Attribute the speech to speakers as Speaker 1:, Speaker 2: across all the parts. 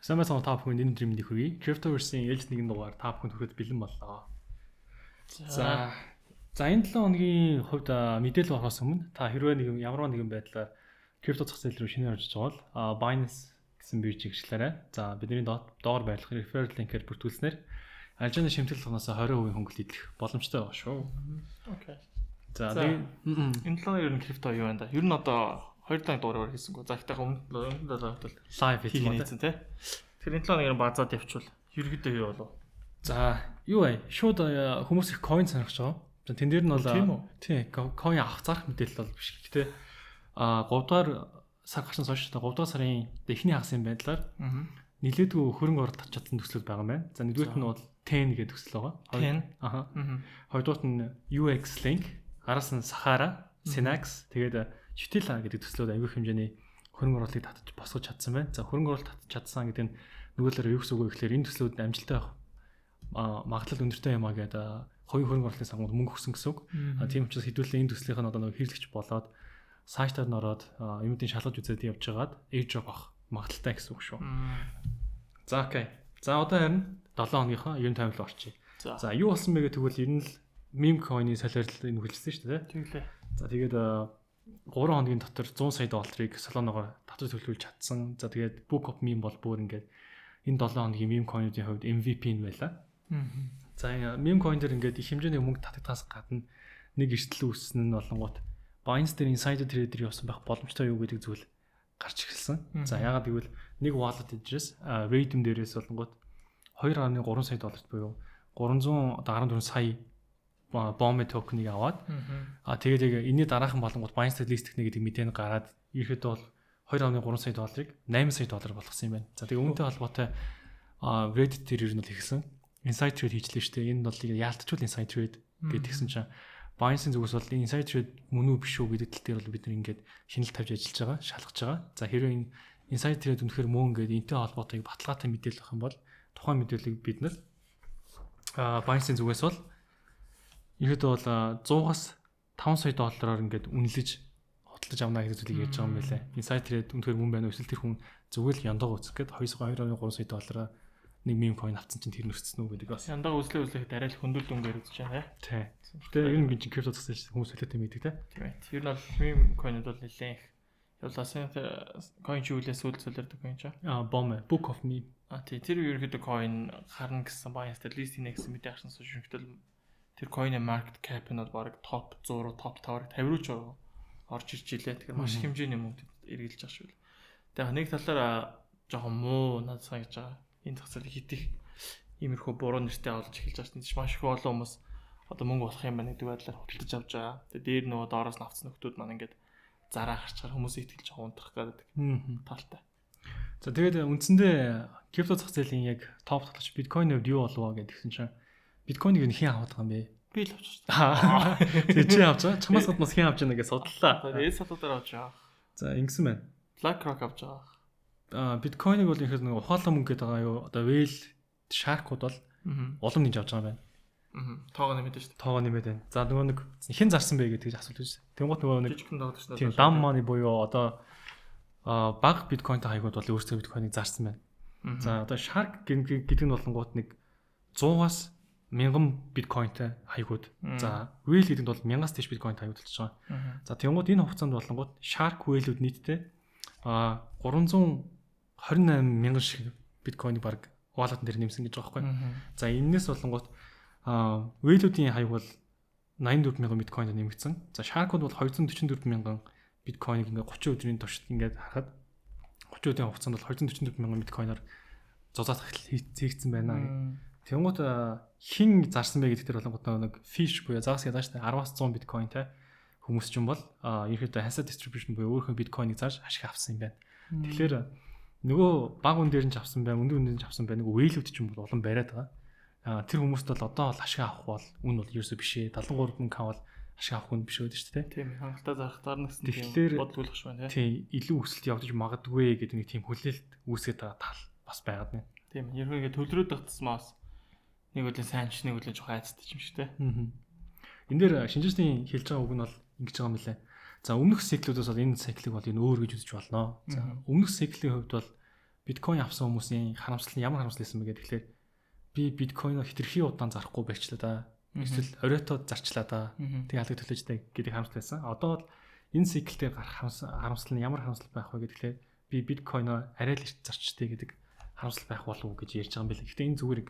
Speaker 1: Самбайсан та бүхэнд энэ өдрийн мэндийг хүргэе. Cryptoverse-ийн ээлж нэгэн дугаар та бүхэнд хүрэхэд бэлэн боллоо. За энэ 7 хоногийн хувьд мэдээлэл орохоос өмнө та хэрвээ ямар нэгэн байдлаар крипто зах зээл рүү шинээр орж байгаа бол Binance гэсэн биржийг хэрэглээрэй. За бидний доор байрлах referral link-ээр бүртгүүлснээр алжааны шимтгэл тоносоо 20% хөнгөлөлт идэх боломжтой байгаа шүү. Окей. За
Speaker 2: энэ 7 ер нь крипто юу байна да? Ер нь одоо 2 дахь дугаараар хийсэнгүү. За ихтэй өмнө бол
Speaker 1: лайв
Speaker 2: хийсэн тий. Тэгэхээр энэ 7 хоногийн базаад явчвал ерөөдөө юу болов?
Speaker 1: За юу вэ? Шууд хүмүүс их coin сонирхож байгаа. За тэн дээр нь бол тий coin авах зарах мэдээлэл бол биш. Гэтэ 3 дугаар сар гарсан хойш 3 дугаар сарын эхний хагасын байдлаар нэлээдгүй хөрөнгө оруулалт авч чадсан төслүүд байгаа юм байна. За нэгдүгürt нь бол 10 гэдэг төсөл байгаа. 10. Хоёрдугаарт нь UX Link, араас нь Sahara, Synax, тэгээд Chitila гэдэг төслүүд аюул хэмжээний хөрөнгө оруулалтыг татаж босгож чадсан байна. За хөрөнгө оруулалт татаж чадсан гэдэг нь нөгөөлөөр юу гэсэн үг вэ гэхээр энэ төслүүд амжилттай магадлал өндөртэй юм а гэдэг хоёрын хөрөнгө оруулалтын сангууд мөнгө өгсөн гэсэн үг. Тийм учраас хэдүүлээ энэ төслийнх нь одоо нэг хэрэглэгч болоод сайтаар нь ороод юмдын шалгаж үзээд явж байгаад airdrop авах магадлалтай гэсэн үг шүү. За окей. За одоо харин 7 хоногийнхоо ер нь таймлал орчие. За юу болсон бэ гэх тэгвэл ер нь л meme coin-ийн солиорлыг нөхөлсөн шүү дээ.
Speaker 2: Тэглээ.
Speaker 1: За тэгээд 3 хоногийн дотор 100 сая долларыг Solana-гоор татвар төлөвлөж чадсан. За тэгээд Book of Meme бол бүр ингээд энэ 7 хоногийн meme coin-уудын хувьд MVP нь байлаа. За meme coin дээр ингээд их хэмжээний мөнгө татагдахаас гадна нэг эрсдэл үүссэн нь болонгууд Binance дээр insider trader явсан байх боломжтой юу гэдэг зүйл гарч ирсэн. За яагаад гэвэл нэг wallet address Radium дээрээс болонгууд 2.3 сая долларт буюу 314 сая BOME токен-ыг аваад тэгээд энэний дараахан болонгууд Binance дээр лист гэх гэдэг мэдээ гараад ерөөхдөө бол 2.3 сая долларыг 8 сая доллар болгосон юм байна. За тэгээд үүнтэй холбоотой Reddit дээр ер нь л ихсэн inside trade хийжлээ шүү дээ. Энэ бол яалтчгүй inside trade гэдгийгсэн чинь Binance-ийн зүгээс бол inside trade мөн үү биш үү гэдэг тал дээр бол бид нэг ингээд шинжилт тавьж ажиллаж байгаа, шалгаж байгаа. За хэрвээ энэ inside trade үнэхээр мөн ингээд энтэй холбоотой баталгаатай мэдээлэл авах юм бол тухайн мэдээллийг бид нар Binance-ийн зүгээс бол ерөөдөө бол 100-аас 5 сая доллараар ингээд үнэлж хөтлөж авна гэдэг зүйлийг ярьж байгаа юм байлаа. Inside trade үнэхээр мөн байна уу? Эсвэл тэр хүн зүгээр л яндагаа үзэх гээд 2.3 сая доллараар нэг meme coin авсан чинь тэр нэрсэн үү гэдэг бас.
Speaker 2: Яндагаа үзлээ арай л хөндөөл дүнгээр үзэж байгаа.
Speaker 1: Тий. Гэтэ ер нь гинж крипто засаж хүмүүс солиотой мэддэг те.
Speaker 2: Тийм ээ. Ер нь бол meme coin-ууд бол нэлээд их явлаасан coin чиглэлээс үл солиордог coin чаа.
Speaker 1: BOME, Book of Meme.
Speaker 2: Тий. Тэр ерөөхдөө coin харна гэсэн Binance дээр лист хийнэ гэсэн мэдээ гарсан шүүхтэл тэр coin-ийн market cap нь бол баг топ 100 топ 5-аар 50 руу ч орж ирж илээ. Тэгэхээр маш хэмжээний мөнгө эргэлж байгаа шүү. Тэгээ нэг талаараа жоохон муу надад санагдаж байгаа. Энэ зах зээлийг хитэх иймэрхүү буруу нэртэй олж эхэлж байгаа чинь маш их олон хүмүүс одоо мөнгө болох юм байна гэдэг байдлаар хөдөлж авч байгаа. Тэгээ дээр нөгөө доороос навцсан нөхдүүд маань ингээд зараа гарчаар хүмүүсийг итгэж байгаа унтрах гэдэг талтай.
Speaker 1: За тэгээд үндсэндээ крипто зах зээлийн яг топ тоглогч биткойн хувьд юу болов гэдгсэн чинь биткойныг нь хэн аваад байгаа юм бэ?
Speaker 2: Би л авч байна.
Speaker 1: Тэгээ чи авч байгаа. Чамаас гаднаас хэн авч байгааг судлаа.
Speaker 2: Тэгээд салуудаар авч байгаа.
Speaker 1: За ингэсэн байна.
Speaker 2: BlackRock авч байгаа.
Speaker 1: Биткойныг бол ихэнх нэг ухаалаг мөнгө гэдэг байгаа юу? Одоо Whale, Shark-ууд бол улам нэмж авч байгаа юм байна.
Speaker 2: Тоогоо нэмээд шүү дээ.
Speaker 1: Тоогоо нэмээд байна. За нөгөө нэг хэн зарсан бэ гэдэг асуулт үүс. Тэнгуут нөгөө нэг
Speaker 2: жижигхэн тоогоо шүү дээ.
Speaker 1: Тийм дам money буюу одоо баг биткойнтой хаягууд бол өөрсдөө биткойныг зарсан байна. За одоо Shark гэдэг нь болонгууд нэг 100-аас 1000 биткойнтой хаягууд. За Whale гэдэг нь бол 1000-аас дээш биткойнтой хаягууд болж байгаа. За тэнгуут энэ хугацаанд болонгууд Shark Whale-үүд нийтдээ 328 мянган шиг биткойныг баг wallet дээр нэмсэн гэж байгаа байхгүй. За энэс болонгууд Whale-үүдийн хаяг бол 84 мянган биткойнд нэмэгдсэн. За Shark-ууд бол 244 мянган биткойныг ингээ 30 өдрийн туршид ингээд харахад 30 өдрийн хугацаанд бол 244 мянган биткойноор зузаах хийгдсэн байна. Тэнгуут хин зарсан бэ гэдэг дээр болонгууд нэг fish буюу загас ядаж 10-аас 100 биткойнтай хүмүүс ч юм бол ерөөдөө хасаа distribution буюу өөрийнхөө биткойныг зарж ашиг авсан юм байна. Тэгэхээр нөгөө баг үн дээр нь ч авсан байна, өндөр үн дээр нь ч авсан байна. Нөгөө Whale-үүд ч юм бол улам бариад байгаа. Тэр хүмүүст бол одоо бол ашиг авах бол үн бол ерөөсөө биш ээ. 73 мөнгө авал ашиг авах үн биш байдаг шүү дээ.
Speaker 2: Тийм, хангалттай зарахтаар нэгсэн
Speaker 1: тийм
Speaker 2: бодлуулах шүү байна.
Speaker 1: Тийм, илүү өсөлт явагдаж магадгүй гэдэг нэг тийм хүлээлт үүсгэж байгаа тал бас байгаад байна.
Speaker 2: Тийм, ерөнхийдөө төлрөөд тагцсмаас нэг үлийн сайн ч нэг үлийн жоохон айцтай юм шиг те.
Speaker 1: Энэ дээр шинжээчдийн хэлж байгаа үг нь бол ингэж байгаа юм лээ. За өмнөх циклүүдээс бол энэ циклыг бол энэ өөр гэж үзэж болно. За өмнөх циклийн хувьд бол биткойн авсан хүмүүсийн харамсал нь ямар харамсал байсан бэ гэдэг. Тэгэхээр би биткойноо хитрхи удаан зарахгүй байчлаа да. Эсвэл оройтоод зарчлаа да. Тэгээ алга төлөөжтэй гэдэг харамсал байсан. Одоо бол энэ цикл дээр гарах харамсал нь ямар харамсал байх вэ гэхээр би биткойноо арай л их зарчтэй гэдэг харамсал байх болов уу гэж ярьж байгаа юм билээ. Гэхдээ энэ зүгээр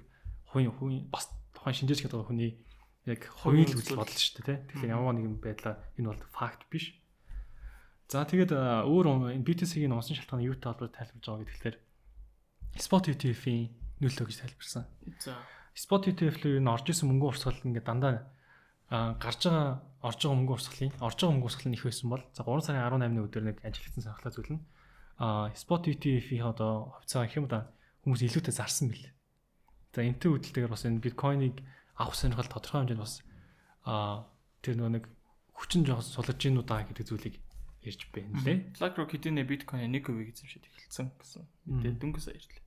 Speaker 1: хувийн бас тухайн шинжээч гэдэг хүний яг хувийн л үзэл бодол шүү дээ. Тэгэхээр ямар нэгэн байдлаар энэ бол факт биш. За тэгээд өөр энэ BTC-ийн онцон шалтгааны юутай холбоотой тайлбарж байгаа гэхээр Spot ETF-ийн нөлөө гэж тайлбарсан.
Speaker 2: За
Speaker 1: Spot ETF-л юу н орж исэн мөнгө урсгал ингээд дандаа орж байгаа мөнгө урсгал нь их байсан бол за 3 сарын 18-ны өдөр нэг ажиглагдсан сонирхолтой зүйл нь Spot ETF-ийн одоо хувьцаа гэх юм да хүмүүс илүүтэй зарсан бил. За энэтэй үүдэлтэйгээр бас энэ биткойныг авах сонирхол тодорхой хэмжээнд бас тэр нэг хүчин жоос сулж гинүү даа гэдэг зүйлийг ярьж байна лээ.
Speaker 2: BlackRock хэдийнэ биткойн 1% эзэмшиж эхэлсэн гэсэн. Тэгээд дөнгөс баярлалаа.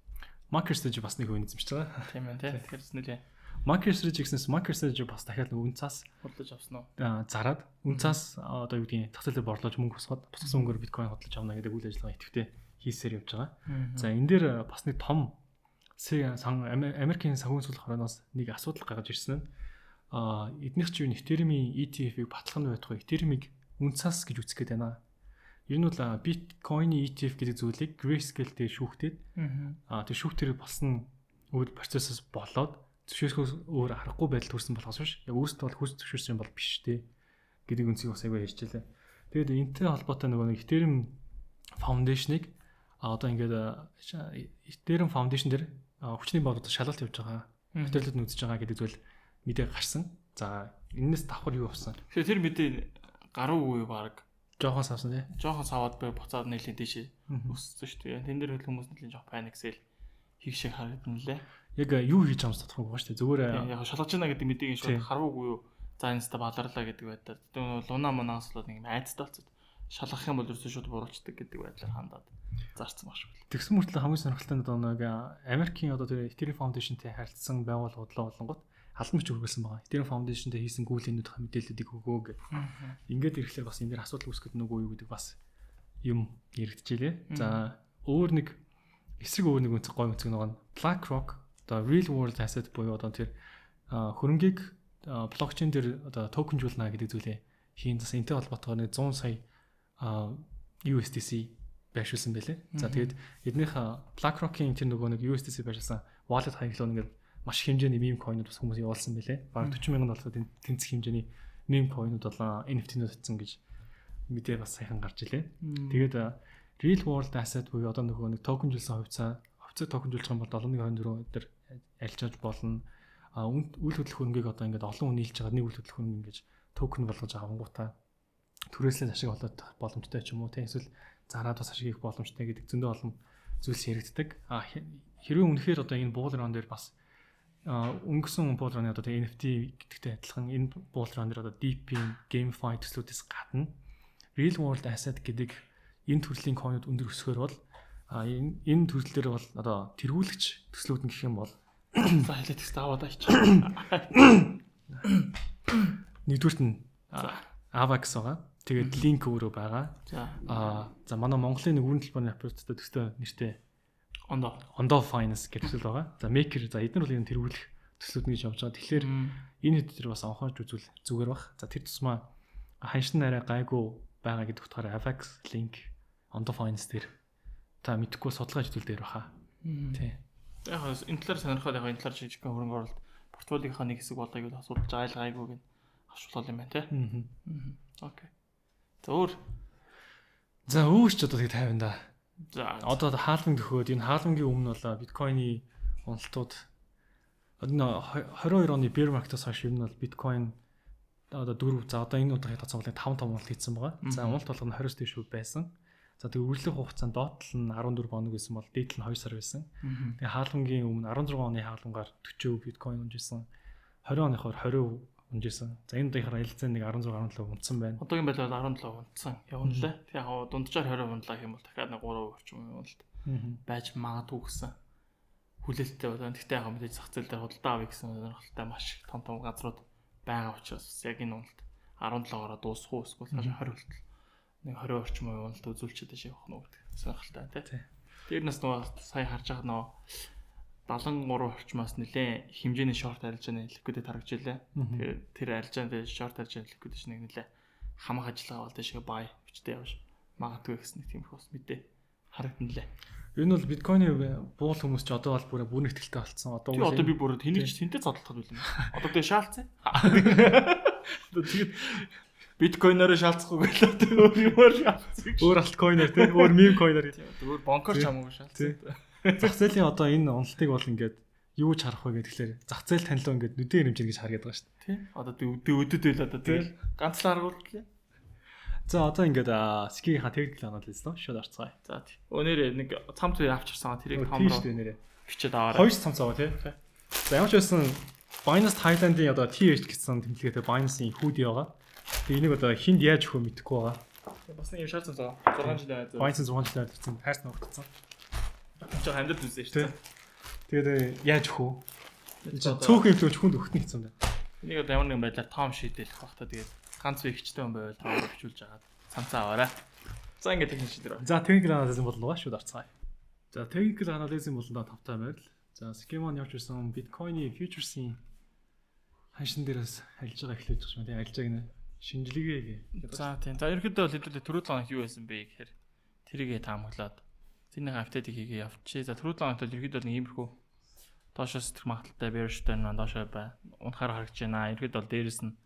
Speaker 1: MicroStrategy бас 1% эзэмшиж байгаа.
Speaker 2: Тийм ээ тий. Тэгэхээр нэлээ.
Speaker 1: MicroStrategy гэснээс MicroStrategy бас дахиад нэг үнцаас
Speaker 2: худалдаж авсан уу?
Speaker 1: Зараад үнцаас одоо юу гэдгийг зах зээлээр борлуулж мөнгө босгоод босгосон мөнгөөр биткойн худалдаж авна гэдэг үйл ажиллагаа идэвхтэй хийсээр явж байгаа. За энэ дээр бас нэг том Америкийн санхүүгийн сул хорооноос нэг асуудал гаргаж ирсэн нь эднийх ч юу Ethereum-ийн ETF-ийг батлах нь байтугай Ethereum-ийг үнцаас гэж үзэх гээд байна. Ер нь бол биткойны ETF гэдэг зүйлийг Grayscale дээр шүүхтээд тэр шүүхтэр болсон үйл процессоос болоод зөвшөөрөхөөс өөр аргагүй байдал төрсэн болохоос биш. Яг өөрсдөө бол хүс зөвшөөрсөн бол биш дээ гэдэг үнцийг бас аягүй ярьжээ. Тэгээд энэтэй холбоотой нөгөө нэг Ethereum Foundation-ыг одоо ингээд Ethereum Foundation дээр хүчний бодлого шалгалт явьж байгаа. Материалууд нь үзэж байгаа гэдэг зүйл мэдээ гарсан. За энэс давхар юу болсон?
Speaker 2: Тэгэхээр тэр мэдээ гаруугүй баг.
Speaker 1: Жохон савсан тий.
Speaker 2: Жохон саваад бай буцаад нэлийн дэшээ өссөн шүү дээ. Тэн дээр хөл хүмүүс нэлийн жоох паниксэл хийх шиг харагдана лээ.
Speaker 1: Яг юу хийж байгаа юм тодорхой байгаа шүү дээ. Зүгээр
Speaker 2: яг шалгаж байна гэдэг мэдээгийн шууд харуугүй юу. За энэс та баларлаа гэдэг байдлаар. Тэр луна манаас бол нэг айцтай болцоод шалгах юм бол ерөөсөө шууд буруулцдаг гэдэг байдлаар хандаад зарцсан баг шүү.
Speaker 1: Тэгсэн мөртлөө хамгийн сонирхолтой нь одоо нэг Америкийн одоо тэр Ethereum Foundation-тэй харилцсан байгууллагууд болонгот халдамж үргэлсэн байгаа. Ethereum Foundation-тэй хийсэн гүйлэнүүд мэдээллүүдийг өгөө гэх. Ингээд ирэхлээр бас энэ дээр асуудал үүсгэж нүгөө юу гэдэг бас юм яригдчихлээ. За өөр нэг үнцэг гой үнцэг нэг BlackRock одоо Real World Asset буюу одоо тэр хөрөнгийг блокчейн дээр одоо токенжуулна гэдэг зүйлээ хийн зас энтэй холбоотойгоор нэг 100 сая USDC байршуулсан байлээ. За тэгээд эднийх BlackRock-ийн тэр нөгөө нэг USDC байршуулсан wallet хаяглал ингээд маш хэмжээний meme coin-ууд бас хүмүүс явуулсан байлээ. Бараг 40,000 доллараар тэнцэх хэмжээний meme coin-ууд болоо NFT-нүүд утсан гэж мэдээ бас сайхан гарч илээ. Тэгээд Real World Asset буюу одоо нөгөө нэг токенжуулсан хувьцаа токенжуулах юм бол 7.24 дээр арилжааж болно. Үйл хөдлөх хөрөнгийг одоо ингээд олон хүн нийлж байгаа нэг үйл хөдлөх хөрөнгө ингэж токен болгож авангуудаа түрээслээ ашиг олох боломжтой ч юм уу те эсвэл зараад бас ашиг хийх боломжтой гэдэг зөндөө олон зүйлс яригддаг. Хэрвээ үнэхээр одоо энэ bull run дээр бас өнгөрсөн bull run-ы одоо NFT гэдэгтэй адилхан энэ bull run дээр одоо deep-ийн GameFi төслүүдээс гадна Real World Asset гэдэг энэ төрлийн coin-ууд өндөр өсгөр бол энэ төрлөл дээр бол одоо тэргүүлэгч төслүүд нь гэх юм бол
Speaker 2: за хэлээ тест аваад аач.
Speaker 1: Нэгдүгürt нь Avax байгаа. Тэгээд линк өөрөө байгаа. За манай Монголын нэг үүрэн талбарны аппараттай төстэй нэртэй Ondo Finance гэх төсөл байгаа. За Maker за эдгээр бол энэ тэргүүлэх төслүүд нь гэж явж байгаа. Тэгэхээр энэ хэд дээр бас анхаарч үзвэл зүгээр бах. За тэр тусмаа ханшин арай гайгүй байгаа гэдэг утгаараа Avax линк Ondo Finance дээр та мэдхгүй судалгаа хийдэл дээр баха. Тий.
Speaker 2: Яг энэ талаар сонирхоод яг энэ талаар жижигхэн хөрөнгө оруулалт портфолиогийнхаа нэг хэсэг болоог бол асуудалж айлгайгүйг нь авшуулал юм байна тий. Окей.
Speaker 1: За өөр ч одоо тэг 50 да.
Speaker 2: За
Speaker 1: одоо хаалмын төхөөд энэ хаалмын өмнө бол биткойны уналтууд энэ 22 оны bear market-аас хойш юм бол биткойн одоо 4 за одоо энэ удаагийн тооцоолын 5 уналт хийсэн байгаа. За уналт болгоно 20-с дээш байсан. За тэг үргэлжлэх хугацаанд доотлол нь 14 хоног байсан бол дээдл нь 2 сар байсан. Тэгээ хаалмын өмнө 16 оны хаалмгаар 40% биткойн унжсэн. 20 оныхоор 20% унжсэн. За энэ удаагийнхаар ялцсан нэг 16 унтсан байна.
Speaker 2: Одоогийн байдлаар 17 унтсан явна лээ. Тэг яг дунджаар 20 унлаа гэх юм бол дахиад нэг 3% орчим уналт байж магадгүй гэсэн хүлээлттэй байна. Гэхдээ яг мэдээж зах зээл дээр худалдаа авъя гэсэн сонирхолтой маш их том газрууд байгаа учраас яг энэ уналт 17-оор дуусах уу эсвэл 20 хүртэл нэг 20 орчим уналт үзүүлчихэд явах нь гэдэг сонирхолтой тий. Тэр нас нөгөө сая харж байгаа нөгөө 73 орчмоос нэлээ хэмжээний шорт арилжааны ликвидэд харагдж илээ. Тэгэхээр тэр арилжааны шорт арилжааны ликвидэж нэг нэлээ хамаг ажиллагаа бол дэшгээ бай хүчтэй явж магадгүй гэсэн нэг тиймэрхүү бас мэдээ харагдана лээ.
Speaker 1: Ер нь бол биткойны буул хүмүүс ч одоо бол бүр ихтэй болцсон. Одоо
Speaker 2: би бүр тэнтэй зодлоход байлаа. Одоо тэгээ шаалцсан. Тэгээд биткойноор шаалцахгүй байлаа. Өөр юмар шаалцсан.
Speaker 1: Өөр алткойноор тий, өөр мем койноор.
Speaker 2: Өөр бонкор ч хамаагүй шаалцсан.
Speaker 1: Зах зээлийн одоо энэ уналтыг бол ингээд юу ч харах вэ гэхлээр зах зээл танилуу ингээд нүдэн хэмжээ гэж харгээд байгаа шүү дээ.
Speaker 2: Тий. Одоо өдөд байл одоо тэгэл ганцлаа аргууллаа.
Speaker 1: За одоо ингээд скигийн техникл анализ нөө шууд орцгоё.
Speaker 2: За тий. Өнөөдөр нэг цамц үе авчирсан тэрийг
Speaker 1: том руу
Speaker 2: бичээд аваарай.
Speaker 1: Хоёр цамц аваа тий. За ямар ч байсан Binance Thailand-ийн одоо TH гэсэн тэмдэглэгээтэй Binance-ийн хүүдий байгаа. Тэгээ энийг одоо хинд яаж өгөх вэ мэдэхгүй байгаа.
Speaker 2: Бас нэг юм шаардсан заа. 6 жил байгаад.
Speaker 1: Binance 6 жил байгаад тань ногдсон.
Speaker 2: Жоо хамдад үзсэн шүү дээ.
Speaker 1: Тэгээд яаж өгөх вэ? Цөөхөн төлөж хүнд өгөх нь хэцүү юм байна.
Speaker 2: Энийг одоо ямар нэгэн байдлаар том шийдэлэх бах та тэгээд ганц ихчтэй хүн байвал тоо бичүүлж агаад цамцаа аваарай. За ингээд техник шийдэр байна. За техникл анализын болон шууд орцгаая. За техникл анализын болондоо тавтай байл. За схемон явж ирсэн биткойны фьючерсийн ханшин дээрээс ажиллаж байгаа эхлэж байгаа юм тийм ажиллаж гинэ. Шинжилгээ гээ. За тийм. За ерөнхийдөө бол хэдүүлээ түрүү 7 хоног юу байсан бэ гэхээр тэрийгэ таамаглаад тэрний апдейтыг хийгээ явчихъя. За түрүү 7 хоногт ерөнхийдөө нэг иймэрхүү доошоос тэр магадaltaй bearish-тай доошоо бай. Унахаар харагдаж байна. Ерөнхийдөө бол дээрэс нь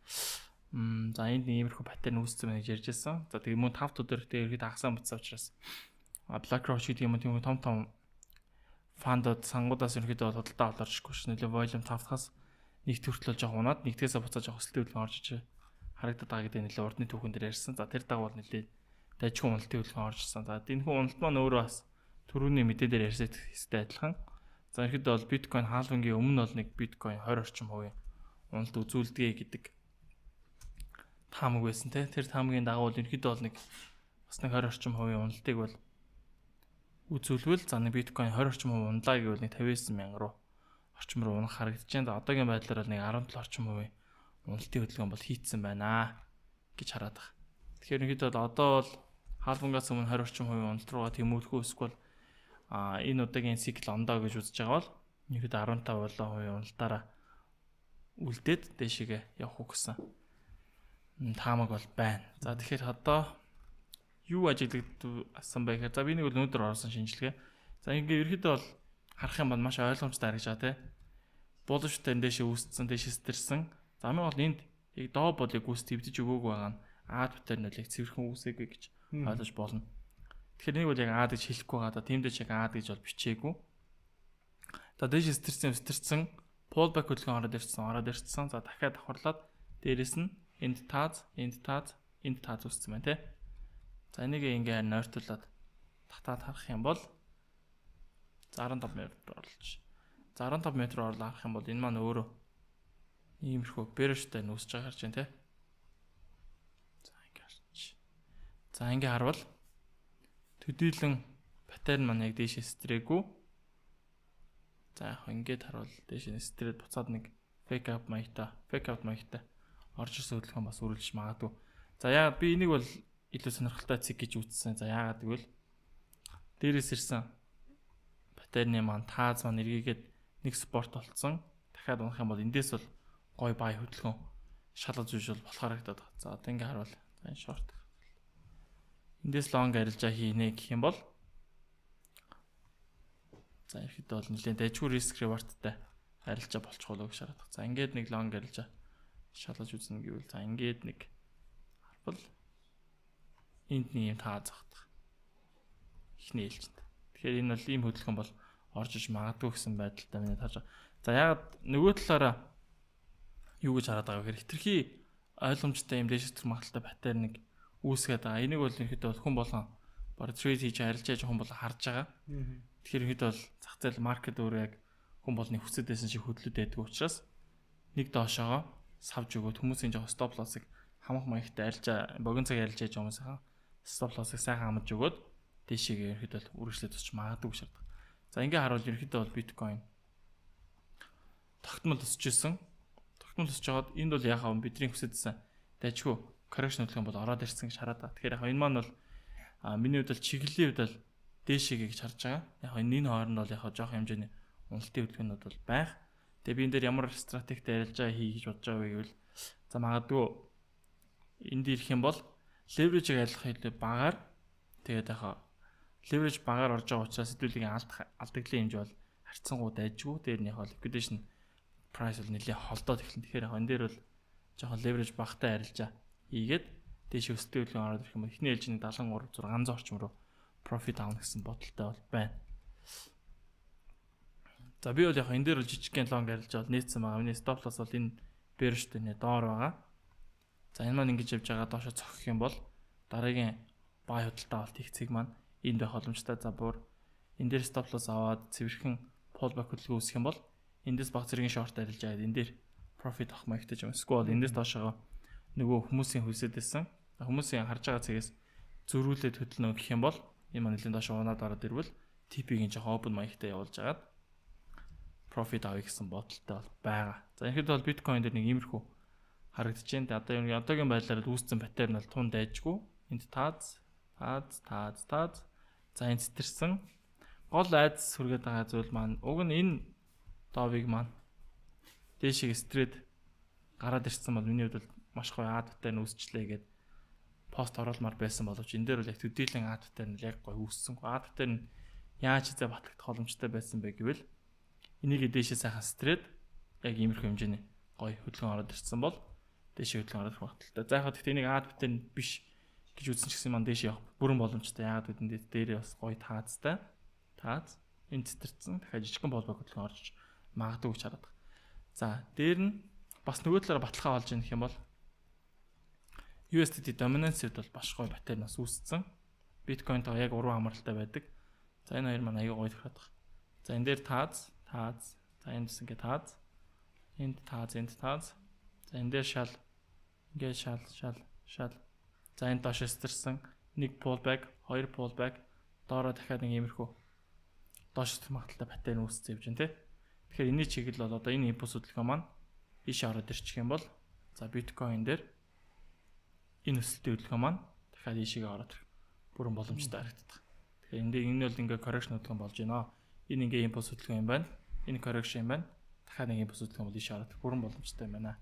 Speaker 2: за энд нэг иймэрхүү паттерн үүссэн байна гэж ярьж байсан. За тэгээ мөн 5 өдөр тэгээ ерөнхийдөө хагасаа бутсан учраас BlackRock гэдэг юм тийм том фандад сангуудаас ерөнхийдөө худалдаа олоорчгүй ш. Нөлөө volume 5-аас нэг төртлөө жоох унаад нэгтгээсээ буцааж жоох өсөлтийн хөдөлгөөн орж ичээ. Харагдаад байгаа гэдэг нөлөө урдны түүхэн дээр ярьсан. За тэр дагуу нөлөө дайчгүй уналтын хөдөлгөөн орж ирсэн. За энэхүү уналт маань өөрөө бас түрүүний мэдээ дээр ярьсан хэстэй адилхан. За ерөнхийдөө бол биткойн хаалгангийн өмнө бол нэг биткойн 20 орчим хувийн уналт үзүүлдэгэ гэдэг таамаг байсан те. Тэр таамагийн дагуу ерөнхийдөө бол нэг бас нэг 20 орчим хувийн уналтыг бол үзүүлвэл за нэг биткойн 20 орчим хувийн унлаа гэвэл нэг 59,000 руу орчим руу унах харагдаж байна. За одоогийн байдлаар бол нэг 17 орчим хувийн уналтын хөдөлгөөн бол хийцэн байна гэж хараад байгаа. Тэгэхээр ерөнхийдөө одоо бол хаалгангаас өмнө 20 орчим хувийн уналт руугаа тэмүүлэхгүй эсвэл энэ удаагийн цикл ондоо гэж үзэж байгаа бол ерөнхийдөө 15% уналтаараа үлдээд дэшигээ явах уу гэсэн таамаг бол байна. За тэгэхээр одоо юу ажиглагдсан бэ гэхээр за би нэг өнөөдөр орсон шинжилгээ. За ингээ ерөнхийдөө бол харах юм бол маш ойлгомжтой харагдаж байгаа те. Булштай дэшээ үүссэн, дэшээ стэрсэн. За хамгийн гол энд яг доо болыг үүс твдэж өгөөг байгаа нь аад паттерн бол яг цэвэрхэн үүсээгүй гэж ойлгож болно. Тэгэхээр нэг бол яг аад гэж хэлэхгүй байгаа да. Тимдээ яг аад гэж бол бичээгүй. За дэшээ стэрсэн, pullback хөдөлгөөн ороод ирсэн. За дахиад давхарлаад дээрэс нь энд тааз үүссэн байна те. За энийг ингээ нойртуулаад татаад харах юм бол 15 метр орлож. 15 метр орлоо харах юм бол энэ маань өөрөө иймэрхүү bearish-тай нүүсэж байгаа харж байна те. За ингээ харвал төдийлөн паттерн маань яг дээшээ стрээгүй. За яг ингээд харвал дээшээ стрээд буцаад нэг fake out маягтай орж ирсэн хөдөлгөөн бас үргэлж магадгүй. За яагаад би энийг бол илүү сонирхолтой цэг гэж үзсэн. За яагаад гэвэл дээрээс ирсэн паттерны маань тааз маань эргээгээд нэг спорт болцсон. Дахиад унах юм бол эндээс бол гой бай хөдөлгөөн шалгаж үжил болохоор харагдаад байна. За одоо ингээ харвал энэ шорт. Эндээс лонг арилжаа хийнэ гэх юм бол за ихэд бол нэлээд дайггүй риск реварттай арилжаа болчих болоо гэж хараад. За ингээд нэг лонг арилжаа шалгаж үзнэ гэвэл за ингээд нэг харвал энд нэг юм таазах ихний ээлжинд. Тэгэхээр энэ бол ийм хөдөлгөөн бол орж иж магадгүй гэсэн байдалтай минь харж байгаа. За ягаад нөгөө талаараа юу гэж хараад байгаа вэ гэхээр хитрхи ойлгомжтой юм дэшстрэх магадaltaй паттерныг үүсгээд байгаа. Энийг бол ерөнхийдөө хүн болгон баг трейд хийж арилжааж хүн болгон харж байгаа. Тэгэхээр ерөнхийдөө бол зах зээл маркет өөрөө яг хүн болгоны хүсэж байсан шиг хөдлөд байдаг учраас нэг доошоогоо савж өгөөд хүмүүсийн жоох стоп лоссыг хамах маягтай арилжаа богино цаг арилжааж байгаа хүмүүсийн стоп лоссыг сайхан хамж өгөөд дэшигээ ерөнхийдөө үргэлжлээд өсч магадгүй шаарддаг. За ингээ харуул ерөнхийдөө бол биткойн тогтмол өсөж исэн. Тогтмол өсөж жагаад энд бол яхаа бидний хүсэжсэн дайчгүй коррекшн хөдөлгөөн бол ороод ирсэн гэж хараад байна. Тэгэхээр яг энэ маань бол миний хувьд бол чиглэлийн хувьд бол дээшээ гэж харж байгаа. Яг энэ хооронд бол яг жоох хэмжээний уналтын хөдөлгөөнүүд бол байх. Тэгээ би энэ дээр ямар стратегтэй арилжаа хий гэж бодож байгаа вэ гэвэл за магадгүй энд ирэх юм бол leverage-ийг айлах хэлээ багаар тэгээд яг leverage багаар орж байгаа учраас хэдүүлгийн алдагдлын хэмжээ бол харьцангуй дайжгүй. Дээр нь яг liquidation price бол нэлээд холдоод эхэлнэ. Тэгэхээр яг энэ дээр бол жоохон leverage багтай арилжаа хийгээд дээш өсөлтийн хөдөлгөөн ороод ирэх юм. Эхний ээлжийн 73 600 орчим руу profit авах гэсэн бодолтой бол байна. За би бол яг энэ дээр бол жижигхэн long арилжаа бол нээсэн байгаа. Миний stop loss бол энэ bearish-тэй нэ доор байгаа. За энэ маань ингэж явж байгаа доошо цохих юм бол дараагийн buy худалдаа авалт их цэг маань энд байх боломжтой. За бүр энэ дээр stop loss аваад цэвэрхэн pullback хөдөлгөөн үүсэх юм бол эндээс баг зэргийн short арилжаа гэдэг энэ дээр profit авах маягтай юм. Эсвэл эндээс доошоо нөгөө хүмүүсийн хөлсөд байсан. Хүмүүсийн харж байгаа цэгээс зөрүүлээд хөдөлнө гэх юм бол энэ маань нэлийн доошоо унаад ороод ирвэл TP-ийн жоохон open маягтай явуулж агаад profit авъя гэсэн бодолтой бол байгаа. За ихэд бол биткойн дээр нэг иймэрхүү харагдаж байна. Одоо одоогийн байдлаар үүссэн паттерн бол тун дайжгүй. Энд тааз. За энэ цэцэрсэн гол айдас хүргээд байгаа зүйл маань уг нь энэ доовыг маань дээшээ стрээд гараад ирсэн бол миний хувьд маш гоё ад паттерн үүсчлээ гэдэг пост оруулмаар байсан боловч энэ дээр бол яг төдийлэн ад паттерн яг гоё үүссэн. Ад паттерн яаж зэ батлагдах боломжтой байсан бэ гэвэл энийг дээшээ сайхан стрээд яг иймэрхүү хэмжээний гоё хөдөлгөөн ороод ирсэн бол дээшээ хөдөлгөөн орох магадaltaй. За яг гэхдээ энийг ад паттерн биш гэж үзсэн ч гэсэн маань дээшээ явах бүрэн боломжтой. Яагаад гэвэл дээрээ бас гоё таазтай. Тааз энэ цэцэрсэн дахиад жижигхэн болбог хөдөлгөөн орж магадгүй гэж хараад байна. За дээр нь бас нөгөө талаараа баталгаа олж яах юм бол USDT dominance-д бол баш гоё паттерн бас үүссэн. Биткойнтойгоо яг уран хамааралтай байдаг. За энэ хоёр маань аягүй гоё тохиод байна. За энэ дээр тааз. За эндс ингээ тааз. Энд тааз. За энэ дээр шал. Ингээ шал. За энэ доош стэрсэн. Нэг pullback, хоёр pullback, доороо дахиад нэг иймэрхүү доош магадaltaй паттерн үүссэн юм тий. Тэгэхээр энэний чиглэл бол одоо энэ импульс хөдөлгөөн маань ийш ороод ирчих юм бол за биткойн дээр энэ өсөлтийн хөдөлгөөн маань дахиад ийшээ ороод ирэх бүрэн боломжтой харагддаг. Тэгэхээр энэ бол ингээ correction хөдөлгөөн болж байна. Энэ ингээ импульс хөдөлгөөн юм байна. Энэ correction юм байна. Дахиад нэг импульс хөдөлгөөн бол ийшээ ороод ирэх бүрэн боломжтой юм байна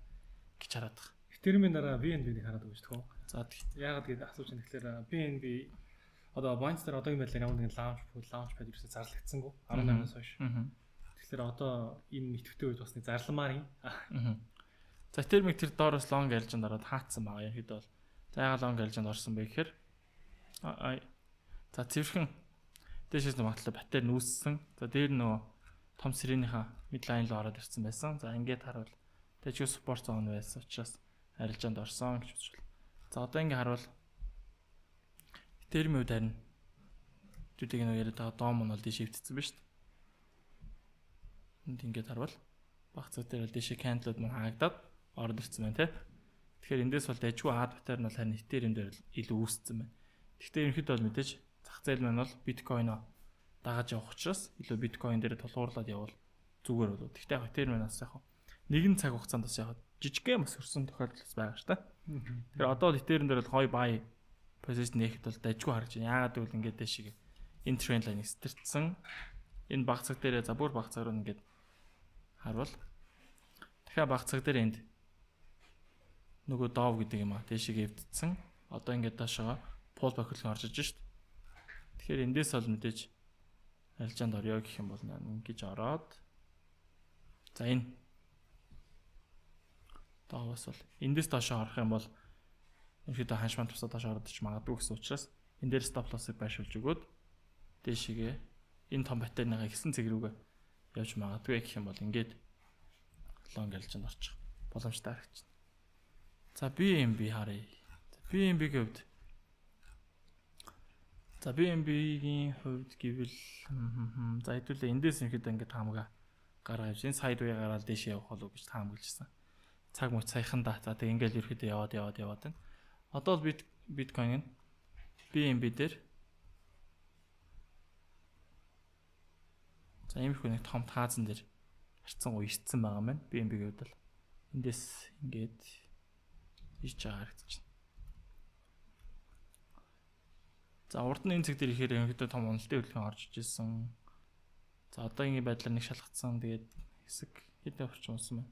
Speaker 2: гэж хараад байна.
Speaker 1: Тэрмийн дараа BNB-ийг хараад байгаа шүү дээ.
Speaker 2: За
Speaker 1: яагаад гэдэг асууж байна тэгэхээр BNB одоо Binance дээр одоогийн байдлаар ямар нэгэн launch pad ерөөсөй зарлагдсангүй 18-наас хойш. Тэгэхээр одоо энэ идэвхтэй үед бас нэг зарламаар юм.
Speaker 2: За термик тэр доороос long альжинд ороод хаацсан байгаа юм хэд бол. За яагаад long альжинд орсон бэ гэхээр за цэвэрхэн дээшээс магадaltaй паттерн үүссэн. За дээр нөгөө том сэрэнийхээ midline руу ороод ирсэн байсан. За ингээд харуул тэгж support zone байсан учраас арилжаанд орсон гэж үзвэл. За одоо ингэ харуул термийн үед харин зүдэг нэг яриад байгаа дом нь бол дээш хөвтцсэн байна шүү дээ. Энд ингэж харуул баг цог дээр бол дээшээ candle-ууд мань хаагдаад ороод ирсэн байна тий. Тэгэхээр эндээс бол дайггүй ад паттерн бол харин Ethereum дээр илүү үүссэн байна. Гэхдээ ерөнхийдөө бол мэдээж зах зээл маань бол биткойноо дагаж явах учраас илүү биткойн дээр тулгуурлаад явал зүгээр болов. Гэхдээ яг Ethereum маань бас яг нэгэн цаг хугацаанд бас яг жижигхэн бас өрсөн тохиолдол байгаа шүү дээ. Тэгэхээр одоо л Ethereum дээр бол гоё buy position нэхэд бол дайггүй харж байна. Яагаад гэвэл ингээд дэшиг энэ trend line стартсан. Энэ баг цаг дээр за бүр баг цаг руу ингээд харвал дахиад баг цаг дээр энд нөгөө дов гэдэг юм а дэшиг эвдсэн. Одоо ингээд доошоо pullback хөдөлгөөн орж иж шүү дээ. Тэгэхээр эндээс бол мэдээж арилжаанд орё гэх юм бол ингэж ороод за энэ доовос бол эндээс доошоо орох юм бол ерөөдөө ханшман тусаа доош ороод ич магадгүй гэсэн учраас энэ дээр stop loss-ыг байршуулж өгөөд дээшигээ энэ том паттерныхаа ихсэн цэг рүүгээ явж магадгүй гэх юм бол ингээд long альжинд орчих боломжтой харагдана. За BNB харъя. BNB-ийн хувьд за BNB-ийн хувьд гэвэл за хэдүүлээ эндээс ихэд ингээд таамага гараа явж энэ сайд үе гараад дээш явах болов гэж таамаглажсэн. Цаг мөч саяхан да. За тэг ингээд ерөөдөө яваад байна. Одоо л биткойн нь BNB дээр за иймэрхүү нэг том таазан дээр харьцангуй ирсэн байгаа маань BNB-ийн хувьд л эндээс ингээд ирж байгаа харагдаж байна. За урд нь энэ цэг дээр ихээр ерөнхийдөө том уналтын хөдөлгөөн орж ижсэн. За одоогийн байдлаар нэг шалгацсан. Тэгээд хэсэг хэдэн орчим унсан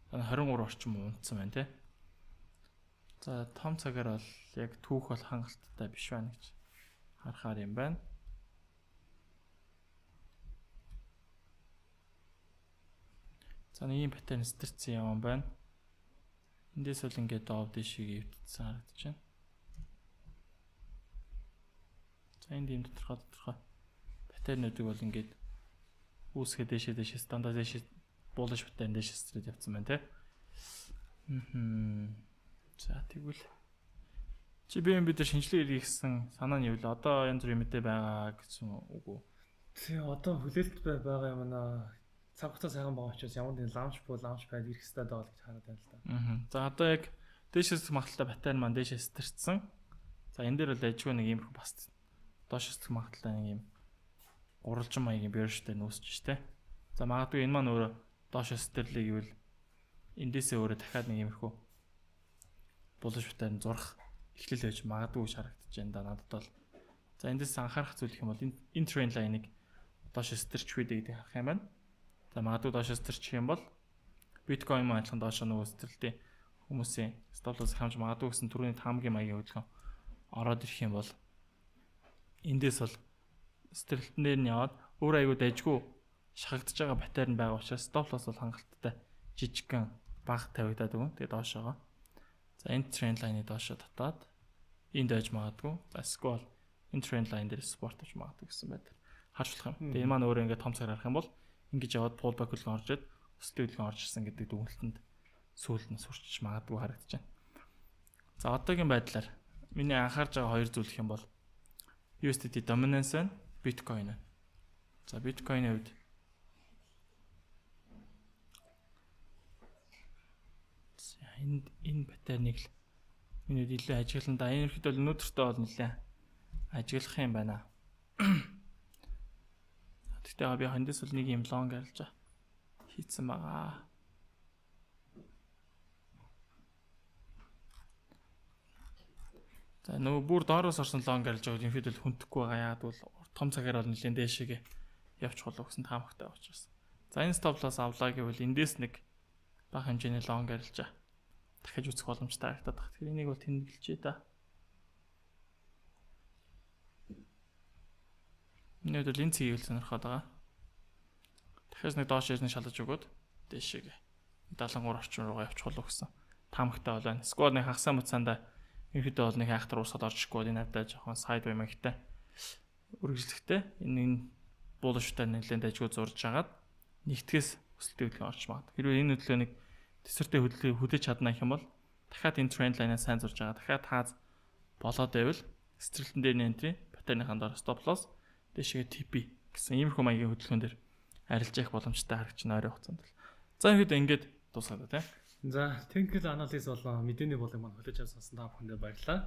Speaker 2: байна. 23 орчим унтсан байна тий. За том цагаар бол яг түүх бол хангалттай биш байна гэж харахаар юм байна. За нэг юм паттерн стэрсэн юм байна. Эндээс бол ингээд дов дэшиг өвдсөн харагдаж байна. За энд юм тодорхой паттернуудыг бол ингээд үүсгээ дээшээ стандарт дээшээ булш паттерн дээшээ стрит явцсан байна тий. За тэгвэл чи бид дээр шинжилгээ хийсэн санаа нь юу вэ? Одоо янз бүрийн мэдээ байгаа гэсэн үг үү?
Speaker 1: Тий одоо хүлээлт байгаа юм аа. Цаг хугацаа сайхан байгаа учраас ямар нэгэн лаунч пад ирэх хэрэгтэй байгаа гэж хараад байна л да.
Speaker 2: За одоо яг дээшээс магталтай паттерн маань дээшээс стэрсэн. За энэ дээр бол ажгүй нэг юм бас доошос магталтай нэг юм гурвалжин маягийн биржтэй нүүсэж штэ. За магадгүй энэ маань өөрөө доошос стэрлээ гэвэл эндээсээ өөрөө дахиад нэг юмрхүү булш паттерн зурх эхлэл байж магадгүй харагдаж байна да надад бол. За эндээс анхаарах зүйл гэх юм бол энэ трend line-ыг доошос стэрч үү гэдэг харах юм байна. За магадгүй доошос стэрчих юм бол биткойн маань адилхан доошоо нөгөө стэрлтэй хүмүүсийн стоп-лосс хамж магадгүй гэсэн түрүүний таамгийн маягийн хөдөлгөөн ороод ирэх юм бол эндээс бол стэрлтэн дээр нь яваад өөр аягүй дайггүй шахагдж байгаа паттерн байгаа учраас стоп-лосс бол хангалттай жижигхэн бага тавигдаад өгөн. Тэгээ доошоогоо. За энэ тренд лайны доошоо татаад энд дайж магадгүй. За эсвэл энэ тренд лайн дээр спорт авч магадгүй гэсэн байдлаар харж болох юм. Тэгээ энэ маань өөрөө ингээд том цагаар харах юм бол ингэж яваад pullback хөдөлгөөн орж ирээд өсөлтийн хөдөлгөөн орж ирсэн гэдэг дүгнэлтэнд сүүлд нь сурчиж магадгүй харагдаж байна. За одоогийн байдлаар миний анхаарж байгаа хоёр зүйл гэх юм бол USDT dominance and Bitcoin. За Bitcoin-ийн хувьд энэ паттерныг л миний илүү ажиглан да. Энэ ихэд бол өнөөдөртөө бол нэлээ ажиглах юм байна. Тэгтээ би хандас бол нэг юм лонг арилж хийцэн байгаа. За нөгөө бүр доороос орсон лонг арилж байгаа юм хэд л хүндэхгүй байгаа. Яг бол том цагаар бол нэлээд дээшээгээ явчих болов гэсэн таамагтай учраас. За энэ стоп лосс авлаа гэвэл эндээс нэг бага хэмжээний лонг арилж дахиж үзэх боломжтой харагдаад байна. Тэгэхээр энийг бол тэмдэглэжээ да. Нэг л энэ цэгийг сонирхоод байгаа. Дахиад нэг доош ирнэ шалгаж өгөөд дээшээгээ 73 орчим руугаа явчих болов гэсэн таамагтай байна. Сквад нэг хагасаа муцаанда ерөөдөө бол нэг хайхтар уусаад орчихгүй энэ надад жоохон сайд баймагтай үргэлжлэхтэй энэ булштай нэлээд ажгүй зурж агаад нэгтгэс өсөлтийн хөдөлгөөн орч магад. Хэрвээ энэ хөдөлгөөнийг тэсвэртэй хөдөлж чадна гэх юм бол дахиад энэ тренд лайнаа сайн зурж байгаа. Дахиад тааз болоод байвал стрэлтэн дээр нэнтри паттерныхаа доор стоп лосс дэшгээ TP гэсэн иймэрхүү маягийн хөдөлгөөн дээр арилж явах боломжтой харагч нь ойрын хугацаанд л. За ингээд дуусгаад байна тийм.
Speaker 1: За technical analysis болон мэдээний болыг маань хүлээж авсан та бүхэндээ баярлалаа.